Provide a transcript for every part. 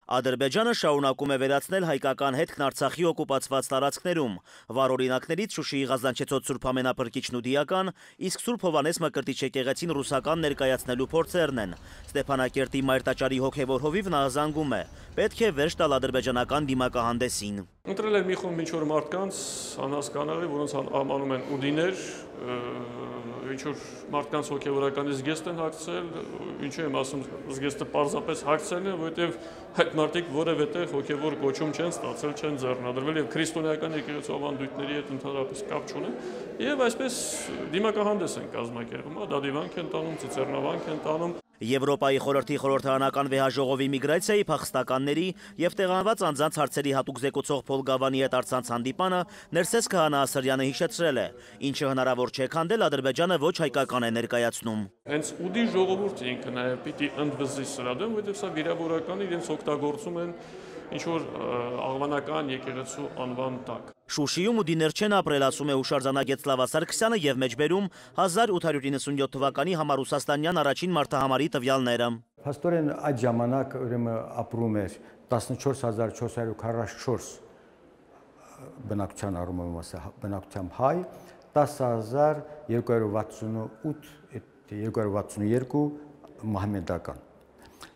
Ադրբեջանը շարունակում է վերացնել հայկական հետքն Արցախի օկուպացված տարածքներում։ Վառ օրինակներից Շուշիի Ղազանչեցոտ Սուրբ Ամենափրկիչն ու Դիական, իսկ Սուրբ Հովհաննես Մկրտիչ եկեղեցին ռուսական ներկայացնելու փորձերն են։ Ստեփանակերտի Մայր տաճարի հոգևոր հովիվն ահազանգում է. պետք է վերջ տալ ադրբեջանական դիմակահանդեսին։ Ընտրել են մի խումբ ինչ-որ մարդկանց, անհասկանալի, որոնց անվանում են ուդիներ, ինչ-որ մարդկանց հոգևորականի զգեստ են հագցել, ինչու եմ ասում, զգեստը պարզապես հագցել են, որովհետև այդ մարդիկ որևէ տեղ հոգևոր կոչում չեն ստացել, չեն ձեռնադրվել եւ քրիստոնեական եկեղեցու ավանդույթների հետ ընդհանրապես կապ չունեն, եւ այսպես դիմակահանդես են կազմակերպում, դադիվանք են տանում, ծիծեռնավանք են տանում։ Եվրոպայի խորհրդի խորհրդարանական վեհաժողովի միգրացիայի փախստականների եւ տեղանված անձանց հարցերի հատուկ զեկուցող Փոլ Գավանի հետ առցանց հանդիպանը Ներսես Քահանա Ասրյանը հիշեցրել է, ինչը հնարավոր չէ քանդել, Ադրբեջանը ոչ հայկական է ներկայացնում։ Հենց ուդի ժողովուրդը ինքը նաեւ պիտի ընդվզի սրա դեմ, որովհետեւ սա վիրավորական իրենց օգտագործում են ինչ-որ աղվանական եկեղեցու անվան տակ։ Շուշիում ուդիներ չեն ապրել, ասում է հուշարձանագետ Սլավա Սարգսյանը եւ մեջբերում 1897 թվականի համառուսաստանյան առաջին մարդահամարի տվյալները։ Փաստորեն այդ ժամանակ ուրեմն ապրում էր 14444 բնակչության առումով բնակչությամբ հայ, 10262 մահմեդական։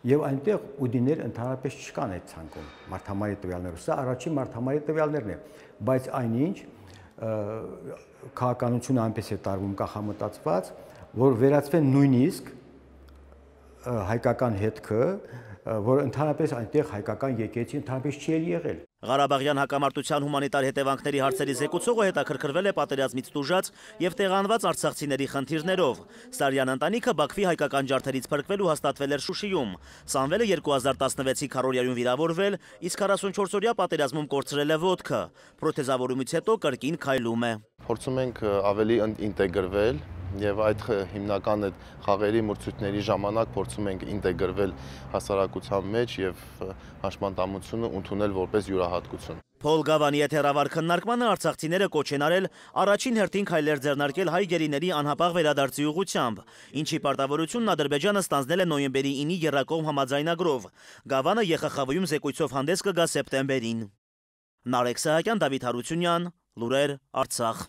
Եվ այնտեղ ուդիներ ընդհանրապես չկան այդ ցանկում մարդամարի տվյալներով։ Սա առաջին մարդամարի տվյալներն է, բայց այնինչ քաղաքականությունը այնպես է տարվում կախամտածված, որ վերածվեն նույնիսկ հայկական հետքը, որ ընդհանրապես այնտեղ հայկական եկեղեցի ընդհանրապես չի եղել։ Ղարաբաղյան հակամարտության հումանիտար հետևանքների հարցերի զեկուցողը հետաքրքրվել է պատերազմից տուժած եւ տեղանված արցախցիների խնդիրներով։ Սարյան ընտանիքը Բաքվի հայկական ջարդերից փրկվելու հաստատվել էր Շուշիում։ Սամվելը 2016-ի քարորիայում վիրավորվել, իսկ 44-օրյա պատերազմում կորցրել է ոտքը։ Պրոթեզավորումից հետո կրկին քայլում է։ Փորձում ենք ավելի ինտեգրվել եւ այդ հիմնական այդ խաղերի մրցույթների ժամանակ փորձում ենք ինտեգրվել հասարակության մեջ եւ հաշմանդամությունը ընդունել որպես յուրահատկություն։ Փոլ Գավանի հետ հեռավար քննարկմանը արցախցիները կոչ են արել առաջին հերթին քայլեր ձեռնարկել հայ գերիների անհապաղ վերադարձի ուղղությամբ, ինչի պարտավորությունն Ադրբեջանը ստանձնել է նոյեմբերի 9-ի եռակողմ համաձայնագրով։ Գավանը ԵԽԽՎ-ում զեկույցով հանդես կգա սեպտեմբերին։ Նարեկ Սահակյան, Դավիթ Հարությունյան, Լուրեր, Արցախ։